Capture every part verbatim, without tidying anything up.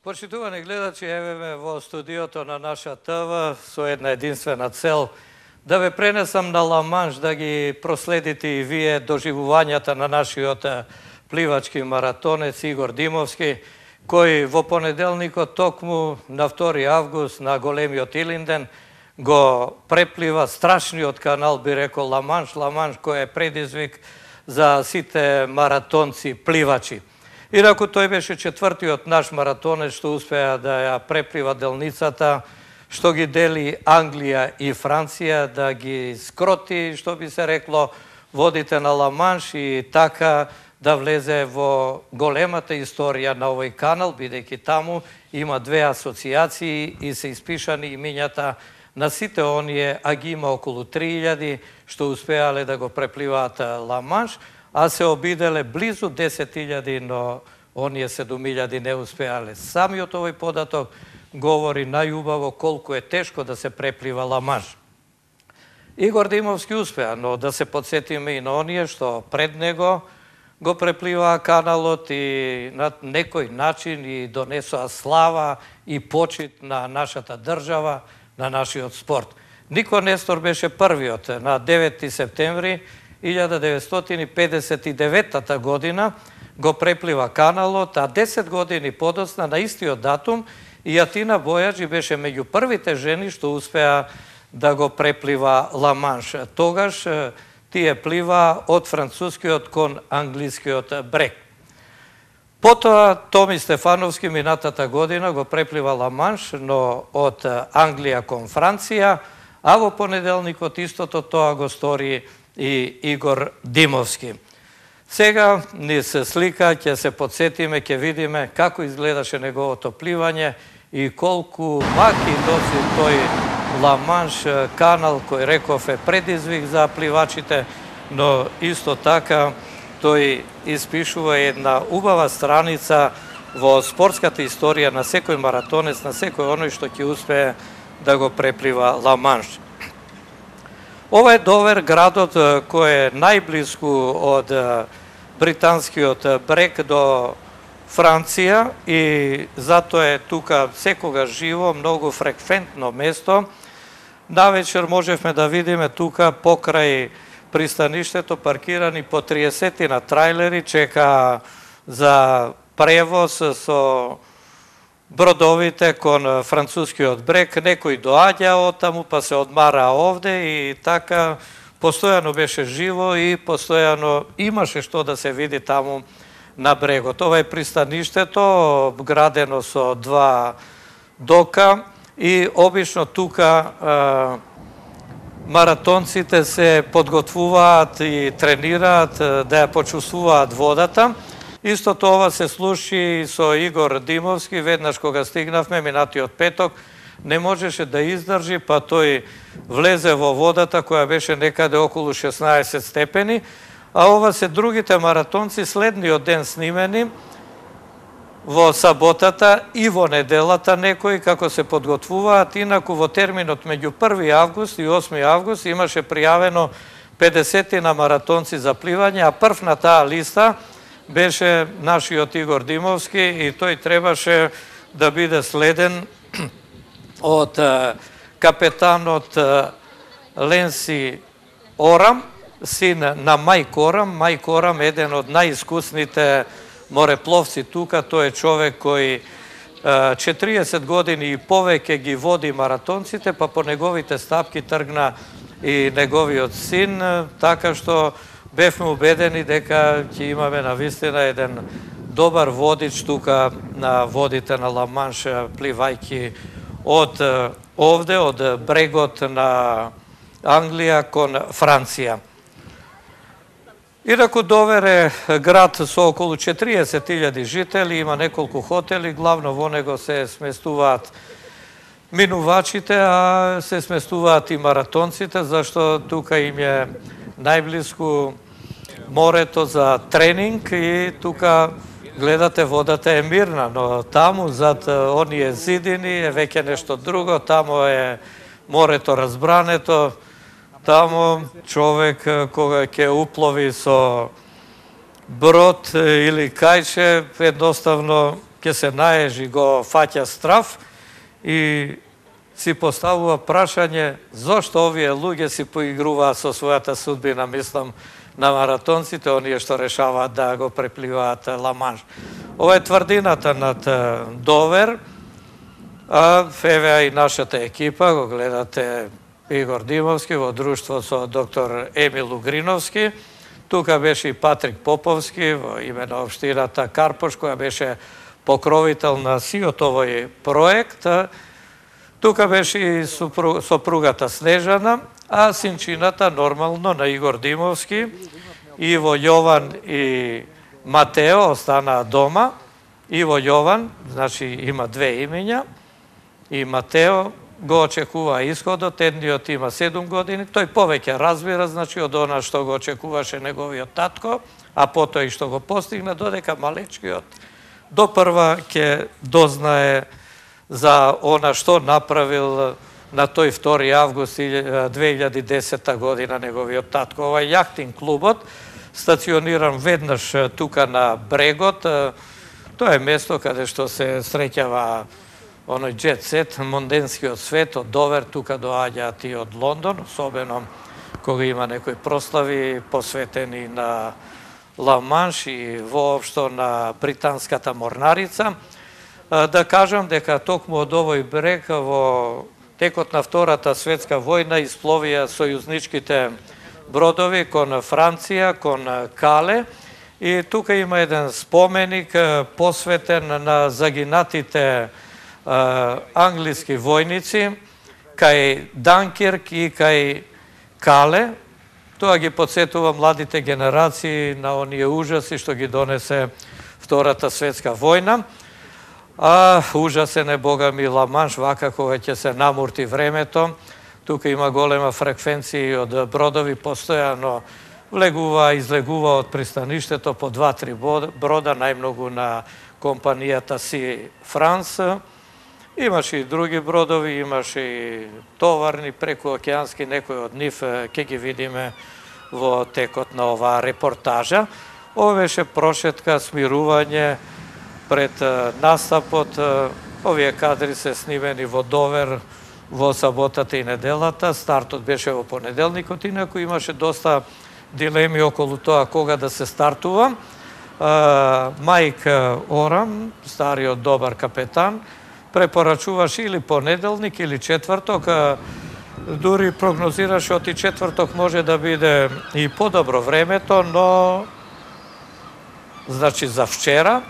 Почитувани гледачи, еве ме во студиото на наша ТВ со една единствена цел да ве пренесам на Ла Манш, да ги проследите и вие доживувањата на нашиот пливачки маратонец Игор Димовски, кој во понеделникот токму на втори август на големиот Илинден го преплива страшниот канал, би рекол Ла Манш, Ла Манш кој е предизвик за сите маратонци пливачи. Инаку тој беше четвртиот наш маратонец што успеа да ја преплива делницата, што ги дели Англија и Франција, да ги скроти, што би се рекло, водите на Ла Манш и така да влезе во големата историја на овој канал, бидејќи таму има две асоциации и се испишани имињата на сите оние, а ги има околу три илјади што успеале да го препливаат Ла Манш, а се обиделе близу десет илјади, но оние седум илјади не успеале. Самиот овој податок говори најубаво колку е тешко да се преплива Ла Манш. Игор Димовски успеа, но да се подсетиме и на оние што пред него го препливаа каналот и на некој начин и донесоа слава и почит на нашата држава, на нашиот спорт. Нико Нестор беше првиот на девети септември илјада деветстотини педесет и девета година го преплива каналот, а десет години подоцна на истиот датум и Атина Бојаджи беше меѓу првите жени што успеа да го преплива Ла Манш. Тогаш тие плива од францускиот кон англискиот брег. Потоа Томи Стефановски минатата година го преплива Ла Манш, но од Англија кон Франција, а во понеделникот истото тоа го стори и Игор Димовски. Сега низ слика ќе се подсетиме, ќе видиме како изгледаше неговото пливање и колку маки носи тој Ла Манш канал, кој реков е предизвик за пливачите, но исто така тој испишува една убава страница во спортската историја на секој маратонец, на секој оној што ќе успее да го преплива Ла Манш. Ова е Довер, градот кој е најблиску од британскиот брег до Франција и затоа е тука секогаш живо, многу фреквентно место. Навечер можевме да видиме тука покрај пристаништето паркирани по триесетина трајлери, чека за превоз со бродовите кон францускиот брег. Некој доаѓа од таму, па се одмара овде и така постојано беше живо и постојано имаше што да се види таму на брегот. Ова е пристаништето, градено со два дока и обично тука а, маратонците се подготвуваат и тренираат да ја почувствуваат водата. Истото ова се случи со Игор Димовски, веднаш кога стигнавме минатиот петок, не можеше да издржи, па тој влезе во водата која беше некаде околу шеснаесет степени, а ова се другите маратонци следниот ден снимени во саботата и во неделата некои како се подготвуваат. Инаку во терминот меѓу први август и осми август имаше пријавено педесетина маратонци за пливање, а прв на таа листа беше нашиот Игор Димовски и тој требаше да биде следен од капетанот Ленси Орам, син на Мајк Орам. Мајк Орам е еден од најискусните морепловци тука, тој е човек кој четириесет години и повеќе ги води маратонците, па по неговите стапки тргна и неговиот син, така што бевме убедени дека ќе имаме навистина еден добар водич тука на водите на Ла Манш, пливајќи од овде, од брегот на Англија кон Франција. Инаку Довер е град со околу четириесет илјади жители, има неколку хотели, главно во него се сместуваат минувачите, а се сместуваат и маратонците, зашто тука им е најблиску морето за тренинг и тука гледате водата е мирна, но таму зад оние зидини е веќе нешто друго, таму е морето разбрането, таму човек кога ќе уплови со брод или кајче, едноставно ќе се наежи, го фаќа страв и си поставува прашање зошто овие луѓе си поигруваат со својата судбина, мислам на маратонците, оние што решаваат да го препливаат Ла Манш. Ова е тврдината над Довер, а еве и нашата екипа, го гледате Игор Димовски во друштво со доктор Емил Угриновски. Тука беше и Патрик Поповски во име на општината Карпош, која беше покровител на сиот овој проект. Тука беше и сопругата Снежана, а синчината нормално на Игор Димовски, Иво Јован и Матео останаа дома. Иво Јован, значи има две имења, и Матео го очекува исходот, едниот има седум години, тој повеќе разбира, значи од она што го очекуваше неговиот татко, а потоа и што го постигна, додека малечкиот допрва ќе дознае за она што направил на тој втори август две илјади и десета година неговиот татко. Ова е јахтин клубот, стациониран веднаш тука на брегот. Тоа е место каде што се среќава оној джет сет, монденскиот свет, од Довер, тука доаѓаат и од Лондон, особено кога има некои прослави посветени на Ла Манш и воопшто на британската морнарица. Да кажам дека токму од овој брег во текот на Втората светска војна испловија сојузничките бродови кон Франција, кон Кале, и тука има еден споменик посветен на загинатите англиски војници кај Данкирк и кај Кале. Тоа ги подсетува младите генерации на оние ужаси што ги донесе Втората светска војна. А ужасен е, бога ми, Ла Манш, вака кога ќе се намурти времето. Тука има голема фреквенција од бродови, постојано влегува, излегува од пристаништето по два-три брода, најмногу на компанијата Си Франс. Имаше и други бродови, имаше и товарни, прекуокеански, некои од нив ќе ги видиме во текот на оваа репортажа. Ова беше прошетка, смирување пред настапот. Овие кадри се снимени во Довер во саботата и неделата. Стартот беше во понеделникот, инаку имаше доста дилеми околу тоа кога да се стартува. Мајк Орам, стариот добар капетан, препорачуваше или понеделник или четврток, дури прогнозираше оти четврток може да биде и подобро времето, но значи за вчера,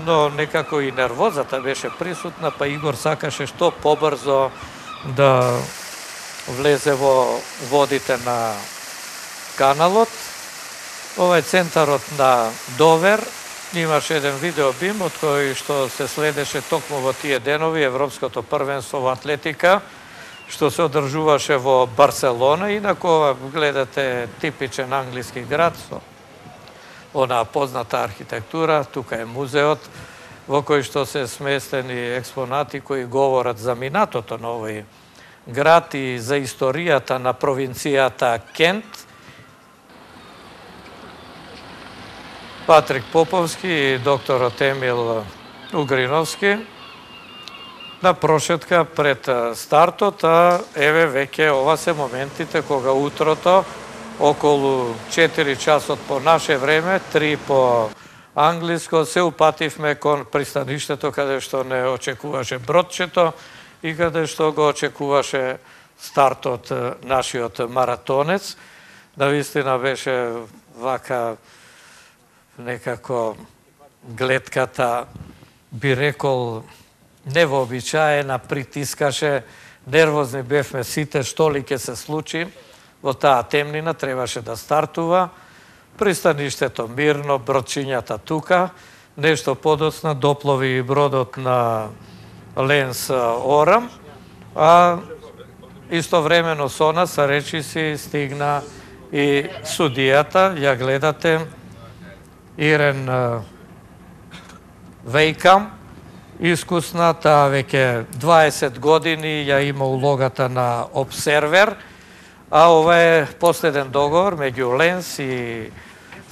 но некако и нервозата беше присутна, па Игор сакаше што побрзо да влезе во водите на каналот. Ова е центарот на Довер. Имаше еден видеобим од кој што се следеше токму во тие денови Европското првенство во атлетика, што се одржуваше во Барселона. Инако ова гледате типичен англиски град со онаа позната архитектура. Тука е музеот во кој што се сместени експонати кои говорат за минатото на овој град и за историјата на провинцијата Кент. Патрик Поповски и докторот Емил Угриновски на прошетка пред стартот, а еве веќе ова се моментите кога утрото околу четири часот по наше време, три по англиско, се упативме кон пристаништето каде што не очекуваше бродчето и каде што го очекуваше стартот нашиот маратонец. Навистина беше вака некако гледката, би рекол, невообичаена, притискаше, нервозни бевме сите, што ли ќе се случи. Во таа темнина требаше да стартува. Пристаништето мирно, бродчињата тука. Нешто подоцна доплови бродот на Ленс Орам, а истовремено со нас, речиси, стигна и судијата. Ја гледате, Ирен Вејкам, искусна, таа веќе дваесет години ја има улогата на обсервер, а ова е последен договор меѓу Ленс и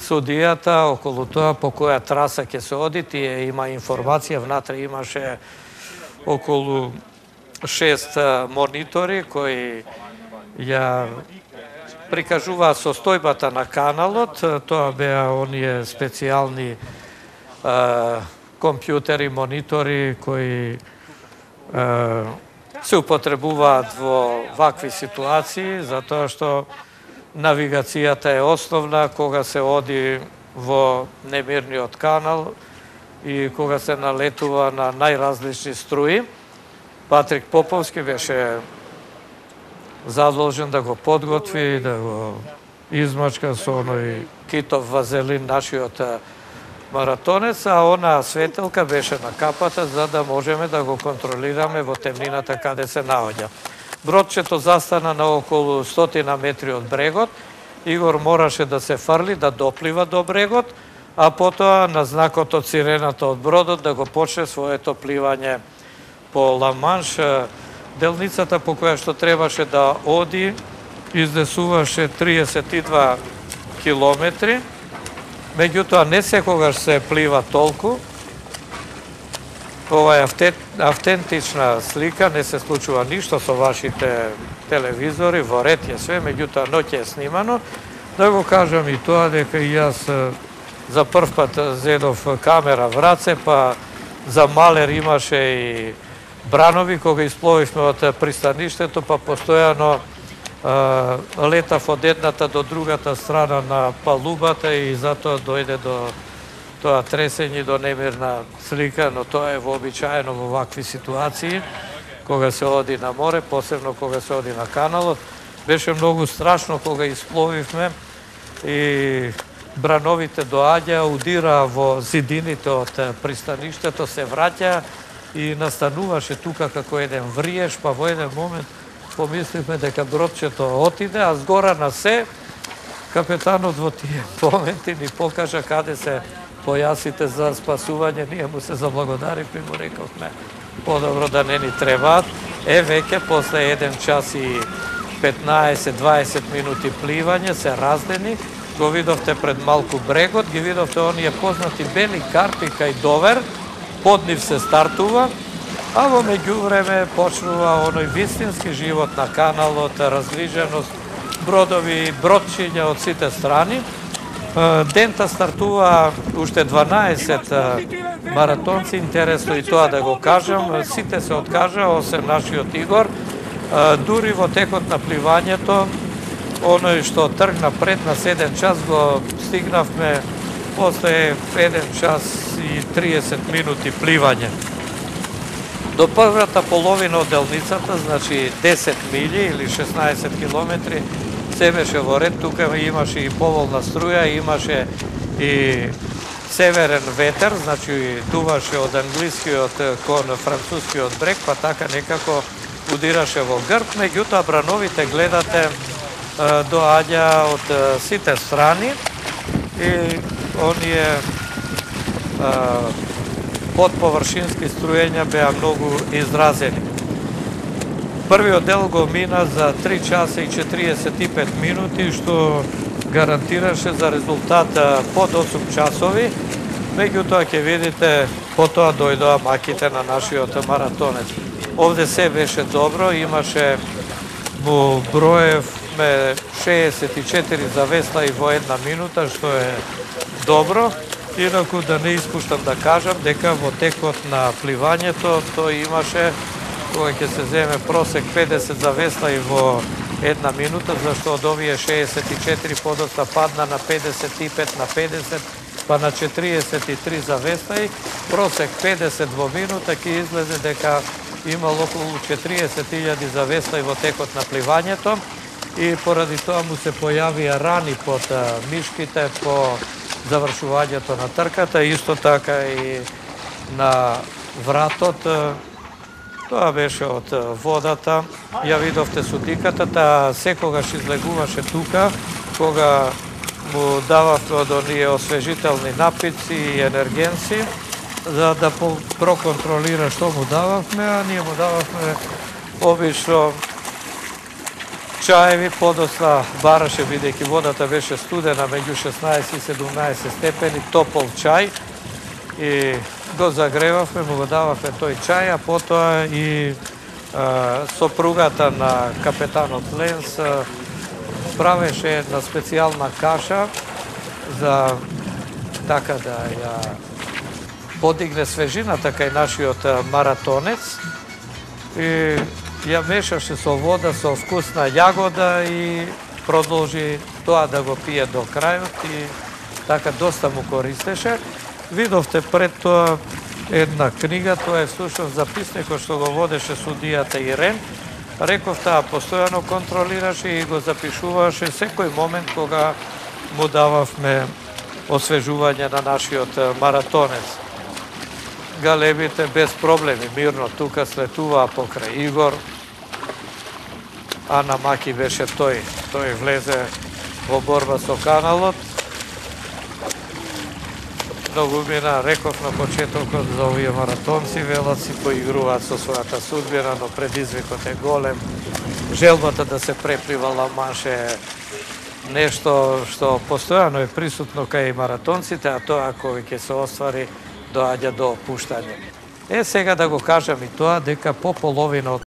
судијата околу тоа по која траса ќе се оди. Тие има информација, внатре имаше околу шест монитори кои ја прикажуваат состојбата на каналот. Тоа беа оние специјални е, компјутери, монитори кои е, се употребуваат во вакви ситуации, затоа што навигацијата е основна кога се оди во немирниот канал и кога се налетува на најразлични струи. Патрик Поповски беше задолжен да го подготви, да го измачка со оној китов вазелин нашиот маратонец, а онаа светелка беше на капата за да можеме да го контролираме во темнината каде се наоѓа. Бродчето застана на околу стотина метри од брегот. Игор мораше да се фрли, да доплива до брегот, а потоа на знакот од сирената од бродот да го почне своето пливање по Ла-Манш. Делницата по која што требаше да оди изнесуваше триесет и два километри, меѓутоа не секогаш се плива толку. Ова е автентична слика, не се случува ништо со вашите телевизори, во ред е све, меѓутоа ноќе е снимано. Да го кажам и тоа дека и јас за прв пат зедов камера в раце, па за малер имаше и бранови, кога испловивме од пристаништето, па постојано летав од едната до другата страна на палубата и затоа дојде до тоа тресење, до немирна слика, но тоа е вообичаено во вакви ситуации, кога се оди на море, посебно кога се оди на каналот. Беше многу страшно кога испловивме и брановите доаѓа, удира во зидините од пристаништето, се враќа и настануваше тука како еден вриеш, па во еден момент помисливме дека бродчето отиде, а згора на се, капетанот во тие моменти ни покажа каде се појасите за спасување. Ние му се заблагодаривме и му рековме подобро да не ни требаат. Е, веќе после еден час и петнаесет-дваесет минути пливање се раздени, го видовте пред малку брегот, ги видовте оние познати бели карпи кај Довер, под нив се стартува, а во меѓувреме почнува оној вистински живот на каналот, разгриженост, бродови, бродчиња од сите страни. Дента стартува уште дванаесет маратонци, интересно и тоа да го кажам, сите се откажа, осем нашиот Игор. Дури во текот на пливањето, оној што тргна пред нас еден час, го стигнавме после еден час и триесет минути пливање. До првата половина од делницата, значи десет милји или шеснаесет километри, се беше во ред. Тука имаше и поволна струја, имаше и северен ветер, значи дуваше од англискиот кон францускиот брег, па така некако удираше во грб. Меѓутоа брановите, гледате, доаѓа од сите страни и оние подповршински струења беа многу изразени. Првиот дел го мина за три часа и четириесет и пет минути, што гарантираше за резултат под осум часови. Меѓутоа ќе видите, потоа дојдоа маките на нашиот маратонец. Овде се беше добро, имаше во броевме шеесет и четири завеслаи во една минута, што е добро. Инаку да не испуштам да кажам дека во текот на пливањето тој имаше, кога ќе се земе просек педесет завеслаи во една минута, зашто од овие шеесет и четири подоцна падна на педесет и пет на педесет, па на четириесет и три завеслаи, просек педесет во минута, ќе излезе дека имало околу четириесет илјади завеслаи во текот на пливањето и поради тоа му се појавија рани под мишките по завршувањето на трката, исто така и на вратот. Тоа беше од водата. Ја видовте судиката, таа секогаш излегуваше тука, кога му дававме од оние освежителни напитци и енергенци, за да проконтролира што му дававме, а ние му дававме обично чаеви, подоцна бараше, бидејќи водата беше студена меѓу шеснаесет и седумнаесет степени, топол чај и го загревавме, му го дававме тој чај, а потоа и а, сопругата на капетанот Ленс а, правеше една специјална каша за така да ја подигне свежината кај нашиот маратонец и ја мешаше со вода, со вкусна јагода и продолжи тоа да го пие до крајот и така доста му користеше. Видовте пред тоа една книга, тоа е всушност записникот што го водеше судијата Ирен. Реков, таа постојано контролираше и го запишуваше секој момент кога му дававме освежување на нашиот маратонец. Галебите без проблеми, мирно тука слетуваа покрај Игор. Ана Маки беше тој, тој влезе во борба со каналот. Многу мина, реков на почетокот за овие маратонци, велат си поигруваат со својата судбина, но предизвикот е голем. Желбата да се преплива Ла Манш е нешто што постојано е присутно кај маратонците, а тоа кој ќе се оствари доаѓа до опуштање. Е, сега да го кажам и тоа, дека по половина од